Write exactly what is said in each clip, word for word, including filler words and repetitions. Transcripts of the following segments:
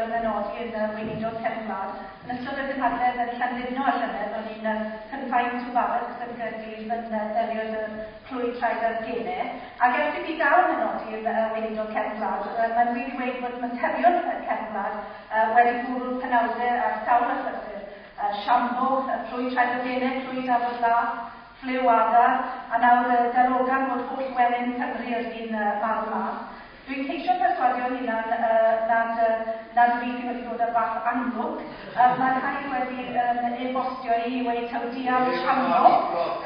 gael y benodi yn uh, weinidog cefn gwlad. Yn ystod y gynhadledd yn Llandudno a llynedd, o'n i'n uh, confined to barracks yn Gaerdydd yn uh, delio y clwy traed a'r genau. Ac ers i fi gael y benodi yn uh, weinidog cefn gwlad, uh, mae'n wir i weud bod materion cefn gwlad uh, wedi bwrw penawdau ar sawl achlysur. Uh, Siambo, y clwy traed a'r genau, clwy dafod las, ffliw adar, a nawr uh, darogan bod holl wenyn Cymru ar fin uh, marw mas. Dwi'n ceisio perswadio hunan uh, nad, uh, nad fi sydd wedi dod ar fath anlwc. Uh, mae rhai wedi um, e-bostio i i weud taw dial siambo.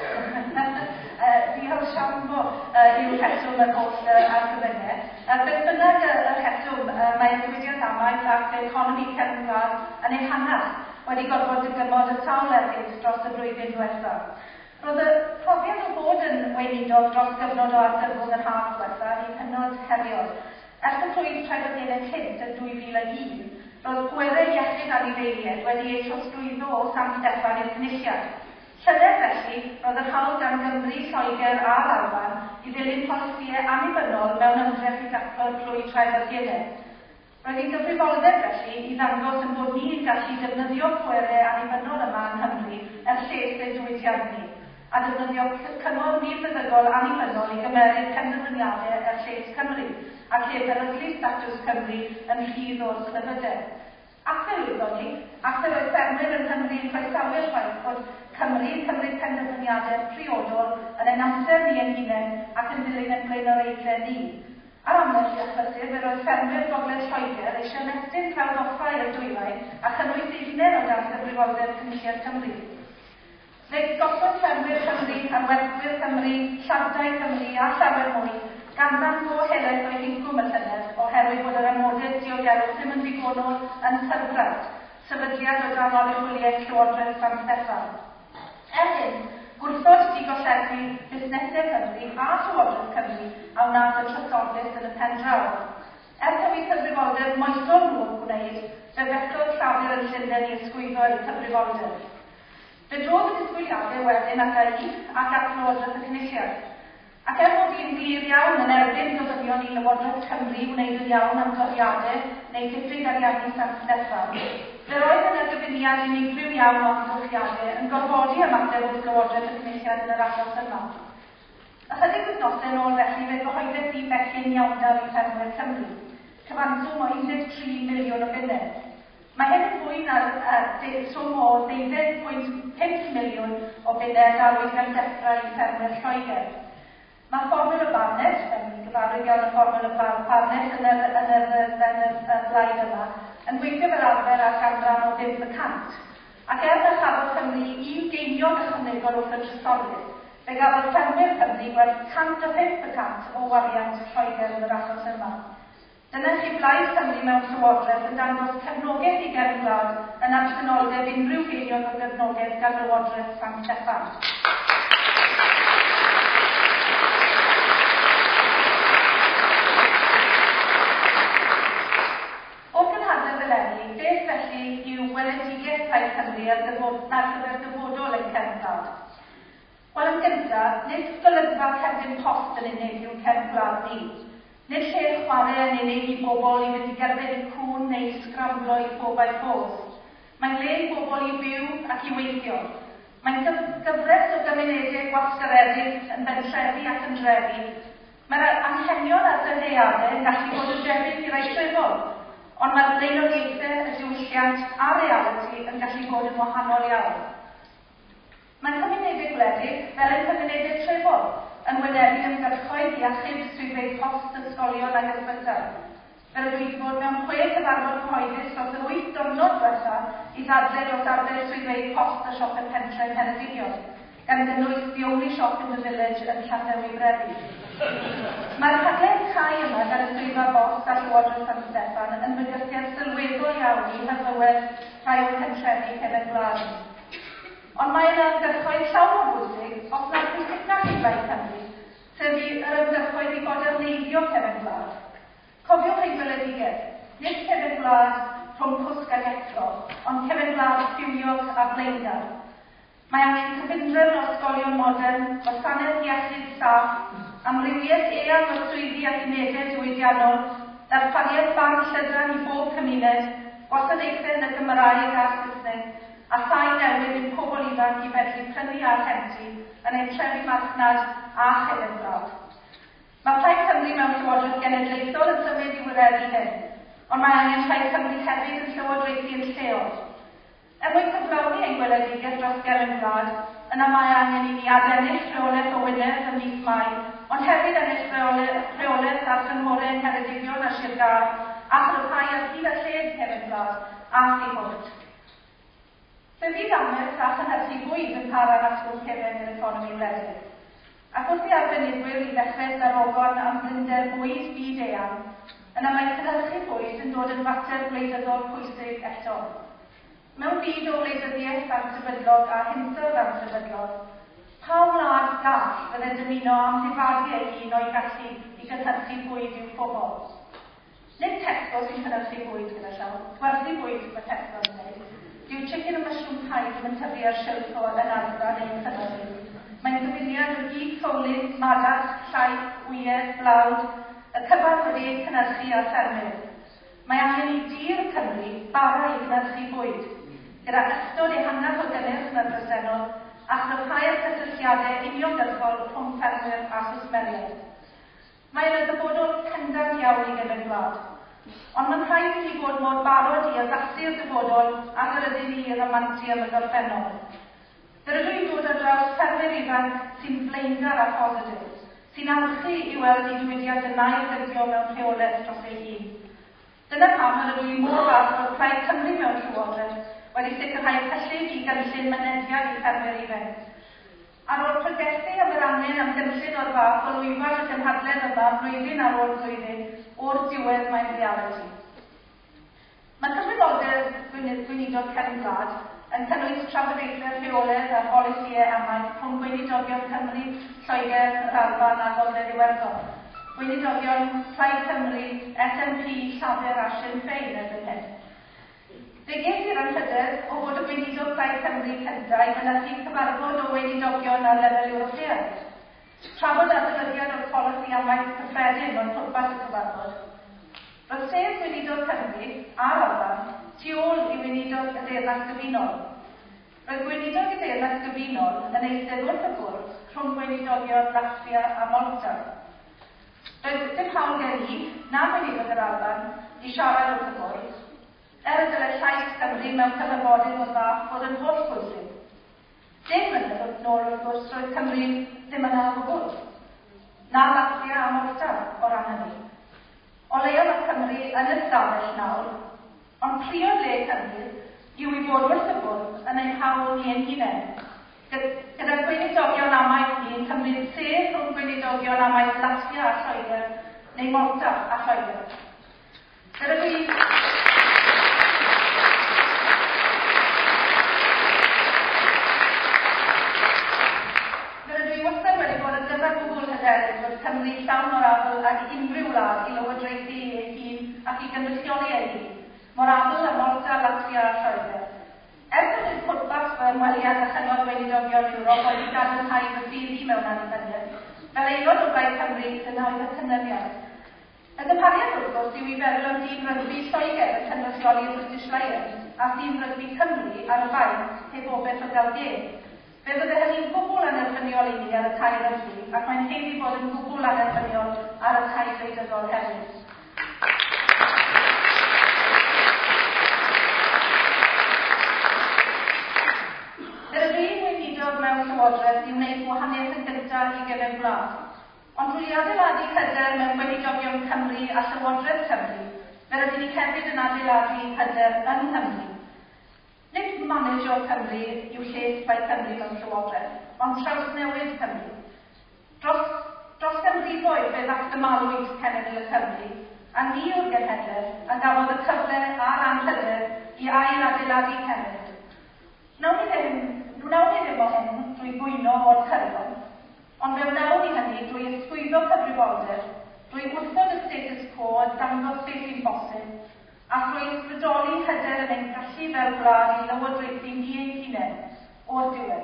uh, dial siambo uh, yw'r rheswm yr holl uh, argyfyngau. Uh, beth bynnag y, y rheswm, uh, mae'r diwydiant amaeth ac economi cefn gwlad yn ei hanach wedi gorfod dygymod y sawl ergyd dros y flwyddyn diwethaf. Roedd y profiad o fod yn weinidog dros gyfnod o argyfwng yr haf diwethaf yn hynod heriol. Ers y clwyf traed cynt yn dwy fil ag un, roedd pwerau iechyd anifeiliaid wedi eu trosglwyddo o San Steffan i'r Cynulliad. Llynedd felly, roedd yr hawl gan Gymru, Lloegr a'r Alban i ddilyn polisïau annibynnol mewn ymdrech i daclo'r clwy traed a'r genau. Roedd hi'n gyfrifoldeb felly i ddangos yn bod ni'n gallu defnyddio pwerau annibynnol yma yng Nghymru er lles ein diwydiant ni, a defnyddio cyngor milfeddygol annibynnol i gymeryd penderfyniadau er lles Cymru, ac heb beryglu statws Cymru yn rhydd o'r clefydau. Ac fe lwyddon ni, ac fe roedd ffermwyr yng Nghymru yn croesawu'r ffaith bod Cymru yn cymryd penderfyniadau priodol yn ein amser ni ein hunain ac yn dilyn ein blaenoriaethau ni. Ar ambell i achlysur, fe roedd ffermwyr Gogledd Lloegr eisiau ymestyn clawdd offa i'r dwyrain a chynnwys eu hunain o dan gyfrifoldeb Cynulliad Cymru. Fe gollodd ffermwyr Cymru, arwerthwyr Cymru, llardau Cymru a llawer mwy ganran go helaeth o'u hincwm y llynedd oherwydd bod yr amodau diogelwch ddim yn ddigonol yn Tyrbrant, sefydliad o dan oruchwyliaeth Llywodraeth San Steffan. Er hyn, gwrthod digolledu busnesau Cymru a Llywodraeth Cymru a wnaeth y trysorlys yn y pen draw. Er taw eu cyfrifoldeb moesol nhw yn gwneud, fe fethodd Llafur yn Llundain i ysgwyddo eu cyfrifoldeb. Fe drodd y disgwyliadau wedyn at I ac at Lywodraeth y Cynulliad. Ac er mod i'n glir iawn yn erbyn gofynion i Lywodraeth Cymru wneud yn iawn am doriadau neu diffyg ariannu San Steffan, fe roedd yna gyfuniad unigryw iawn o amgylchiadau yn gorfodi ymateb wrth Lywodraeth y Cynulliad yn yr achos yma. Ychydig wythnosau yn ôl felly fe gyhoeddes i becyn iawndal i ffermwyr Cymru, cyfanswm o un deg tri miliwn o bunnau. Mae hyn yn fwy na'r uh, swm o ddeuddeg pwynt pump miliwn o bunnau dalwyd gan Defra i ffermwyr Lloegr. Mae fformwl y Barnett, yn gyfarwydd iawn y fformwl y Barnett yn yr, yn yr, yn yr, yn y blaid yma, yn gweithio fel arfer ar ganran o bump y cant. Ac er na chafodd Cymru un geiniog ychwanegol wrth y trysorlys, fe gafodd ffermwyr Cymru werth cant a pump y cant o wariant Lloegr yn yr achos yma. Dyna chi Blaid Cymru mewn llywodraeth yn dangos cefnogaeth i gefn gwlad yn absenoldeb unrhyw geiniog o gefnogaeth gan Lywodraeth San Steffan. O'r gynhadledd eleni, beth felly yw weledigaeth Plaid Cymru ar gyfer dyfodol ein cefn gwlad? Wel, yn gyntaf, nid golygfa cerdyn post yn unig yw cefn gwlad ni. Nid lle chwarae yn unig i bobl i fynd i gerdded i cŵn neu sgramblo i four by fours. Mae'n le i bobl i fyw ac i weithio. Mae'n gyfres o gymunedau gwasgaredig yn bentrefi ac yn drefi. Mae'r anghenion a'r dyheadau yn gallu bod yn debyg i rai trefol, ond mae'r blaenoriaethau, y diwylliant a'r realiti yn gallu bod yn wahanol iawn. Mae'n cymunedau gwledig, fel ein cymunedau trefol, yn wynebu ymgyrchoedd i achub swyddfeydd post, ysgolion ac ysbytai. Fel ydw i wedi bod mewn chwe cyfarfod cyhoeddus dros yr wyth diwrnod diwetha i ddadlau dros arfer swyddfeydd post a siopau pentre yng Ngheredigion, gan gynnwys the only shop in the village yn Llanddewi Brefi. Mae'r rhaglen cau yma gan y swyddfa bost a Llywodraeth San Steffan yn bygythiad sylweddol iawn i hyfywedd rhai o'r pentrefi cefn gwlad. Ond mae yna ymgyrchoedd llawer o bwysig, os nad pwysicach i Blaid Cymru, sef yr ymgyrchoedd i foderneiddio cefn gwlad. Cofiwch ein gweledigaeth, nid cefn gwlad rhwng cwsg ac effro, ond cefn gwlad bywiog a blaengar. Mae angen cyfundrefn o ysgolion modern, gwasanaeth iechyd saff, amrywiaeth eang o swyddi ac unedau diwydiannol, darpariaeth band llydan i bob cymuned, Gwasanaethau yn y Gymraeg a'r Saesneg, a thai newydd i'n pobl ifanc i fedru prynu a rhentu yn ein trefi marchnad a chefn gwlad. Mae Plaid Cymru mewn Llywodraeth Genedlaethol yn symud i wireddu hyn, ond mae angen Plaid Cymru hefyd yn llywodraethu yn lleol. Er mwyn cyflawni ein gweledigaeth dros gefn gwlad, yna mae angen i ni adennill rheolaeth o Wynedd ym mis Mai, ond hefyd ennill rheolaeth ar gynghorau yng Ngheredigion a Sir Gâr, a chryfhau ar hyd a lled cefn gwlad a thu hwnt. Fe fydd amaeth a chynhyrchu bwyd yn para'n asgwrn cefn i'r economi wledig. Ac wrth i arbenigwyr i ddechrau darogan am blinder bwyd byd eang, yna mae cynhyrchu bwyd yn dod yn fater gwleidyddol pwysig eto. Mewn byd o wleidyddiaeth ansefydlog a hinsawdd ansefydlog, pa wlad gall fydde'n dymuno amddifadu ei hun o'i gallu i gynhyrchu bwyd i'w phobl? Nid Tesco sy'n cynhyrchu bwyd gyda llaw, gwerthu bwyd mae Tesco yn gwneud. Dyw chicken and mushroom pie ddim yn tyfu ar silff o yn Asda neu'n Llanelli. Mae'n gyfuniad o gig ffowlyn, madarch, llaeth, wyau, blawd, y cyfan wedi eu cynhyrchu ar ffermydd. Mae angen i dir Cymru bara i gynhyrchu bwyd, gyda ystod ehangach o gynnyrch na'r bresennol a chryfhau'r cysylltiadau uniongyrchol rhwng ffermwyr a chwsmeriaid. Mae yna ddyfodol pendant iawn i gefn gwlad, ond mae'n rhaid i ni fod mor barod i addasu'r dyfodol ag yr ydyn ni i ramantu am y gorffennol. Fe rydw i'n dod ar draws ffermwyr ifanc sy'n flaengar a phositif, sy'n alchu i weld eu diwydiant yn ail-gydio mewn rheolaeth dros ei hun. Dyna pam yr ydw i mor falch bod Plaid Cymru mewn Llywodraeth wedi sicrhau cyllid i gynllun mynediad i ffermwyr ifanc. Ar ôl pregethu am yr angen am gynllun o'r fath o lwyfan y gynhadledd yma flwyddyn ar ôl blwyddyn, o'r diwedd mae'n realiti. Mae cyfrifoldeb gweinidog cefn gwlad yn cynnwys trafodaethau rheolaidd a pholisïau amaeth rhwng gweinidogion Cymru, Lloegr, yr Alban a Gogledd Iwerddon, gweinidogion Plaid Cymru, S N P, Llafur a Sinn Féin erbyn hyn. Fe ges i'r anrhydedd o fod y gweinidog Plaid Cymru cyntaf i mynychu cyfarfod o weinidogion ar lefel Ewropeaidd. Trafod adolygiad o'r polisi amaeth cyffredin oedd pwrpas y cyfarfod. Roedd sedd gweinidog Cymru a'r Alban tu ôl i weinidog y Deyrnas Gyfunol. Roedd gweinidog y Deyrnas Gyfunol yn eistedd wrth y bwrdd rhwng gweinidogion Latvia a Malta. Roedd dim hawl gen i, na gweinidog yr Alban, i siarad wrth y bwrdd, er y dylai llais Cymru mewn cyfarfodydd o'r fath fod yn holl bwysig. Deg mlynedd wrth nôl wrth gwrs roedd Cymru ddim yna o gwbl. Na Latvia a Malta o ran hynny. O leia mae Cymru yn y stafell nawr, ond priod le Cymru yw i fod wrth y bwrdd yn ein hawl ni ein hunain. Gyda gweinidogion amaeth ni yn cymryd sedd rhwng gweinidogion amaeth Latvia a Lloegr neu Malta a Lloegr. Gyda dwi... hyderus bod Cymru llawn o'r abl ag unrhyw wlad i lywodraethu ei hun ac i gynrychioli ei hun, mor abl â Malta, Latvia a Lloegr. Er bod nid pwrpas fy ymweliad â Chyngor Gweinidogion Ewrop oedd i gadarnhau fy ffydd i mewn annibyniaeth, fel aelod o Blaid Cymru, dyna oedd y canlyniad. Y gymhariaeth wrth gwrs yw i feddwl am dîm rygbi Lloegr yn cynrychioli'r British Lions a thîm rygbi Cymru ar y fainc heb obaith o gael gêm. Fe fydde hynny'n gwbl anerbyniol i ni ar y cae rygbi, ac mae'n haeddu bod yn gwbl anerbyniol ar y cae gwleidyddol hefyd. Fe rydw i'n weinidog mewn Llywodraeth i wneud gwahaniaeth yn gyntaf i gefn gwlad. Ond drwy adeiladu hyder mewn gweinidogion Cymru a Llywodraeth Cymru, fe rydyn ni hefyd yn adeiladu hyder yng Nghymru. Nid managio Cymru yw lles Plaid Cymru mewn Llywodraeth, ond trawsnewid Cymru. Dros, dros ganrifoedd fe ddatgymalwyd cenedl y Cymru, a ni yw'r genhedlaeth a gafodd y cyfle a'r anrhydedd i ail-adeiladu cenedl. Wnawn ni ddim, wnawn ni ddim o hyn drwy gwyno o'r cyrion, ond fe wnawn ni hynny drwy ysgwyddo cyfrifoldeb, drwy wrthod y status quo a dangos beth sy'n bosib, a thrwy ysbrydoli hyder yn ein gallu fel gwlad i lywodraethu ni ein hunain o'r diwedd.